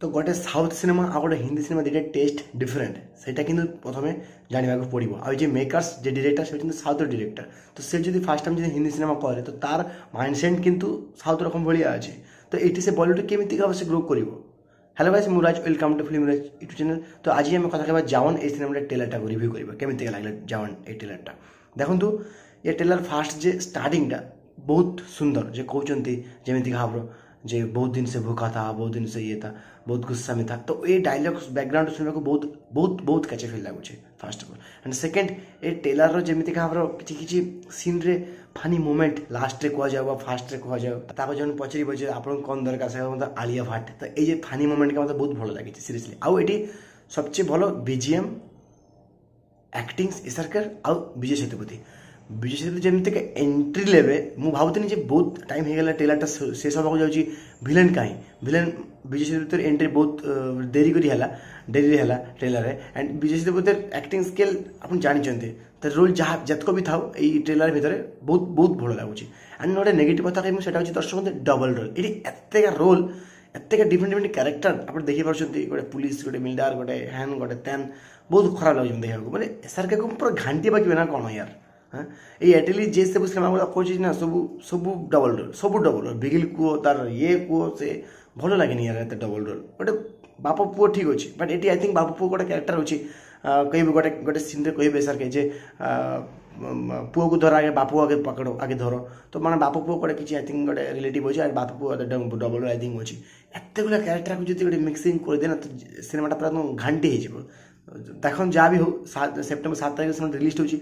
ତ ଗୋଟେ south cinema ଆଉ ଗୋଟେ ହିନ୍ଦୀ ସିନେମା ଦୁଇଟା ଟେଷ୍ଟ ଡିଫରେଣ୍ଟ, ସେଇଟା କିନ୍ତୁ ପ୍ରଥମେ ଜାଣିବାକୁ ପଡ଼ିବ। ଆଉ ଯେ ମେକର୍ସ, ଯେ ଡିରେକ୍ଟର, ସେ ହେଉଛନ୍ତି ସାଉଥ୍ର ଡିରେକ୍ଟର। ତ ସେ ଯଦି ଫାର୍ଷ୍ଟ ଟାଇମ୍ ଯଦି ହିନ୍ଦୀ ସିନେମା କରେ, ତ ତାର ମାଇଣ୍ଡସେଟ୍ କିନ୍ତୁ ସାଉଥ୍ ରକମ ଭଳିଆ ଅଛି। ତ ଏଇଠି ସେ ବଲିଉଡ଼ କେମିତି ସେ ଗ୍ରୋ କରିବ? ହ୍ୟାଲୋ ଗାଇସ୍, ମୁଁ ରାଜ, welcome to film Raj YouTube channel. ତ ଆଜି ଆମେ କଥା କହିବା ଜାୱାନ ଏଇ ସିନେମାଟା ଟ୍ରେଲରଟାକୁ ରିଭ୍ୟୁ କରିବା, କେମିତି ଲାଗିଲା ଜାୱାନ ଏଇ ଟ୍ରେଲରଟା। ଦେଖନ୍ତୁ, ଏ ଟ୍ରେଲର ଫାଷ୍ଟ ଯେ ଷ୍ଟାର୍ଟିଂଟା ବହୁତ ସୁନ୍ଦର, ଯେ କହୁଛନ୍ତି ଯେମିତି ଭାବର ଯେ बहुत दिन से भूखा था, बहुत दिन से ये था, बहुत गुस्सा में था। ତ ଏ ଡାଇଲଗ୍ସ ବ୍ୟାକଗ୍ରାଉଣ୍ଡ ଶୁଣିବାକୁ ବହୁତ ବହୁତ ବହୁତ କ୍ୟାଚି ଫିଲ୍ ଲାଗୁଛି, first of all. And second, ଏ ଟ୍ରେଲରର ଯେମିତିକା ଭାବର କିଛି କିଛି ସିନ୍ରେ ଫନି ମୋମେଣ୍ଟ ଲାଷ୍ଟରେ କୁହାଯାଉ ବା ଫାଷ୍ଟରେ କୁହାଯାଉ, ତାକୁ ଜଣେ ପଚାରିବ ଯେ ଆପଣଙ୍କୁ କ'ଣ ଦରକାର, ସେ ମୋତେ ଆଲିଆ ଭାଟ। ତ ଏଇ ଯେ ଫନି ମୋମେଣ୍ଟଟା ମୋତେ ବହୁତ ଭଲ ଲାଗିଛି ସିରିୟସଲି। ଆଉ ଏଠି ସବଚେ ଭଲ ବିଜିଏମ୍, ଆକ୍ଟିଂ ଏସ୍ଆର୍କେ ଆଉ ବିଜୟ ସେତୁପତି। ବିଜୟ ସେତୁପତି ଯେମିତିକା ଏଣ୍ଟ୍ରି ନେବେ, ମୁଁ ଭାବୁଥିଲି ଯେ ବହୁତ ଟାଇମ୍ ହେଇଗଲା, ଟ୍ରେଲରଟା ଶେଷ ହେବାକୁ ଯାଉଛି, ଭିଲେନ୍ କାହିଁ? ଭିଲେନ୍ ବିଜୟ ସେତୁପତିର ଏଣ୍ଟ୍ରି ବହୁତ ଡେରି କରି ହେଲା, ଡେରିରେ ହେଲା ଟ୍ରେଲରରେ। ଆଣ୍ଡ ବିଜୟ ସେତୁପତିର ଆକ୍ଟିଂ ସ୍କିଲ୍ ଆପଣ ଜାଣିଛନ୍ତି, ତାର ରୋଲ୍ ଯାହା ଯେତକ ବି ଥାଉ ଏଇ ଟ୍ରେଲର ଭିତରେ ବହୁତ ବହୁତ ଭଲ ଲାଗୁଛି। ଆଣ୍ଡ ଗୋଟେ ନେଗେଟିଭ୍ କଥା କହିବି, ସେଇଟା ହେଉଛି ଦର୍ଶକ ଡବଲ୍ ରୋଲ୍। ଏଠି ଏତେକା ରୋଲ୍, ଏତେକା ଡିଫରେଣ୍ଟ ଡିଫରେଣ୍ଟ କ୍ୟାରେକ୍ଟର ଆପଣ ଦେଖିପାରୁଛନ୍ତି, ଗୋଟେ ପୁଲିସ, ଗୋଟେ ମିଲ୍ଡାର, ଗୋଟେ ହ୍ୟାନ୍, ଗୋଟେ ତ୍ୟାନ୍, ବହୁତ ଖରାପ ଲାଗୁଛି ଦେଖିବାକୁ। ମାନେ ଏସ୍ଆର୍କେକୁ ପୁରା ଘାଣ୍ଟି ପାକିବେ ନା କ'ଣ ୟାର? ହଁ, ଏଇ ଆଟଲି ଯେ ସବୁ ସିନେମା ଗୁଡ଼ା କରୁଛି ନା, ସବୁ ସବୁ ଡବଲ୍ ରୋଲ୍, ସବୁ ଡବଲ୍ ରୋଲ୍। ବିଗିଲ କୁହ, ତାର ଇଏ କୁହ, ସେ ଭଲ ଲାଗେନି ୟାର ଏତେ ଡବଲ୍ ରୋଲ୍। ଗୋଟେ ବାପ ପୁଅ ଠିକ୍ ଅଛି, ବଟ୍ ଏଠି I think ବାପ ପୁଅ ଗୋଟେ କ୍ୟାରେକ୍ଟର ଅଛି। କହିବେ ଗୋଟେ ଗୋଟେ ସିନ୍ରେ କହିବେ ସାର୍ ଯେ ପୁଅକୁ ଧର ଆଗେ, ବାପକୁ ଆଗେ ପକଡ଼, ଆଗେ ଧର। ତ ମାନେ ବାପ ପୁଅ ଗୋଟେ କିଛି I think ଗୋଟେ ରିଲେଟିଭ୍ ଅଛି, ଆଉ ବାପ ପୁଅ ଡବଲ୍ I think ଅଛି। ଏତେ ଗୁଡ଼ା କ୍ୟାରେକ୍ଟରକୁ ଯଦି ଗୋଟେ ମିକ୍ସିଂ କରିଦିଏ ନା, ତ ସିନେମାଟା ପୁରା ଘାଣ୍ଟି ହେଇଯିବ। ଦେଖନ୍ତୁ, ଯାହା ବି ହଉ, 7 ସେପ୍ଟେମ୍ବର 7 ତାରିଖ ସିନେମା ରିଲିଜ୍ ହେଉଛି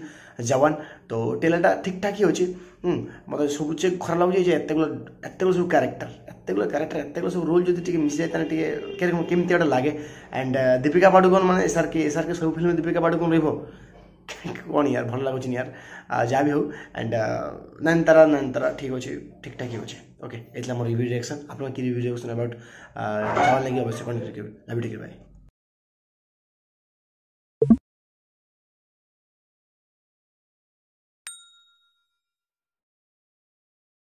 ଜୱାନ। ତ ଟ୍ରେଲରଟା ଠିକ୍ଠାକ୍ ହିଁ ଅଛି। ମୋତେ ସବୁ ଖରାପ ଲାଗୁଛି ଯେ ଏତେଗୁଡ଼ା ଏତେଗୁଡ଼ା ସବୁ କ୍ୟାରେକ୍ଟର, ଏତେଗୁଡ଼ା କ୍ୟାରେକ୍ଟର, ଏତେଗୁଡ଼ା ସବୁ ରୋଲ୍ ଯଦି ଟିକେ ମିଶିଯାଏ, ତାହେଲେ ଟିକେ କେମିତି ଗୋଟେ ଲାଗେ। ଆଣ୍ଡ ଦୀପିକା ପାଡୁକୋନ ମାନେ ଏସ୍ଆର୍କେ, ଏସ୍ଆର୍କେ ସବୁ ଫିଲ୍ମ ଦୀପିକା ପାଡୁକୋନ ରହିବ କ'ଣ ୟାର? ଭଲ ଲାଗୁଛି ୟାର। ଯାହା ବି ହଉ, ଆଣ୍ଡ ନୟନତାରା, ନୟନତାରା ଠିକ୍ ଅଛି, ଠିକ୍ଠାକ୍ ହିଁ ଅଛି। ଓକେ, ଏ ଥିଲା ମୋର ରିଭ୍ୟୁ ରିଆକ୍ସନ୍। ଆପଣଙ୍କ କି ରିଭ୍ୟୁ ରିଆକ୍ସନ୍ ଆବାଉଟ୍ ଜୱାନ ଲାଗି, ଅବଶ୍ୟ କ'ଣ କରିବେ। Love, take, bye.